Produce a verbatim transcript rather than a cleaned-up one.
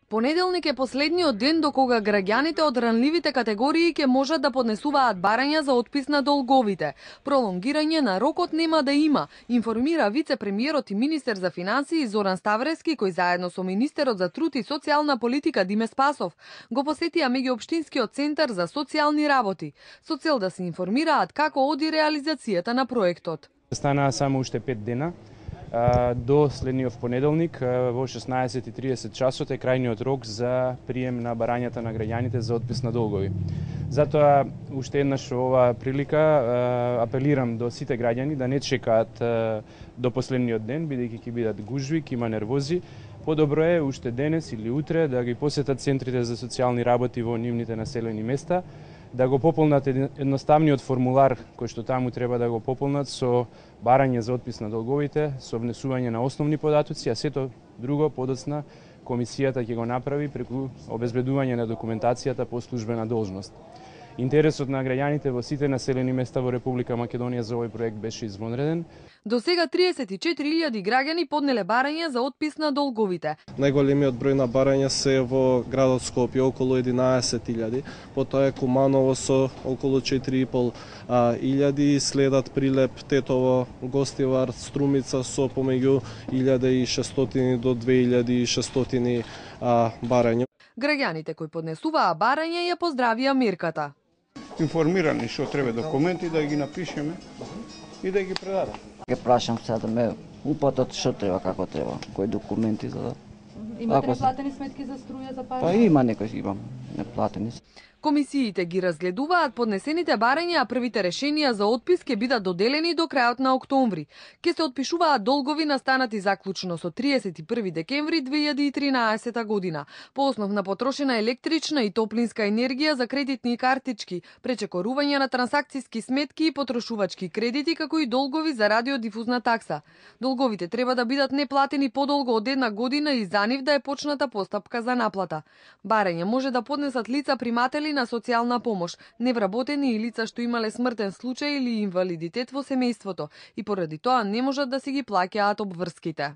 Понеделник е последниот ден до кога граѓаните од ранливите категории ќе можат да поднесуваат барања за отпис на долговите. Пролонгирање на рокот нема да има, информира вице-премиерот и министер за финансии Зоран Ставрески, кој заедно со министерот за труд и социјална политика Диме Спасов го посетија меѓуопштинскиот центар за социјални работи, со цел да се информираат како оди реализацијата на проектот. Станаа само уште пет дена. До следниот понеделник во шеснаесет и тридесет часот е крајниот рок за прием на барањата на граѓаните за отпис на долгови. Затоа уште еднаш ова прилика апелирам до сите граѓани да не чекаат до последниот ден, бидејќи ќе бидат гужви, ќе има нервози. Подобро е уште денес или утре да ги посетат центрите за социјални работи во нивните населени места, да го пополнат едноставниот формулар кој што таму треба да го пополнат со барање за отпис на долговите, со внесување на основни податоци, а сето друго подоцна комисијата ќе го направи преку обезбедување на документацијата по службена должност. Интересот на граѓаните во сите населени места во Република Македонија за овој проект беше извонреден. До сега триесет и четири илјади граѓани поднеле барања за отпис на долговите. Најголемиот број на барања се во градот Скопје, околу единаесет илјади, потоа е Куманово со околу четири и пол илјади, следат Прилеп, Тетово, Гостивар, Струмица со помеѓу илјада и шестстотини до две илјади и шестстотини барања. Граѓаните кои поднесуваа барања ја поздравија мерката. Информирани што треба документи да ги напишеме и да ги предадат. Ке прашам сега да ме упатат што треба, како треба, кои документи за да... Имате неплатени сметки за струја, за пари? Па има некои имам неплатени. Комисиите ги разгледуваат поднесените барања, а првите решенија за отпис ќе бидат доделени до крајот на октомври. Ке се отпишуваат долгови настанати заклучно со триесет и први декември две илјади и тринаесета година, по основ на потрошена електрична и топлинска енергија за кредитни картички, пречекорување на трансакциски сметки и потрошувачки кредити, како и долгови за радиодифузна такса. Долговите треба да бидат неплатени подолго од една година и за нив да е почната постапка за наплата. Барање може да поднесат лица приматели на социјална помош, невработени и лица што имале смртен случај или инвалидитет во семејството и поради тоа не можат да си ги плаќаат обврските.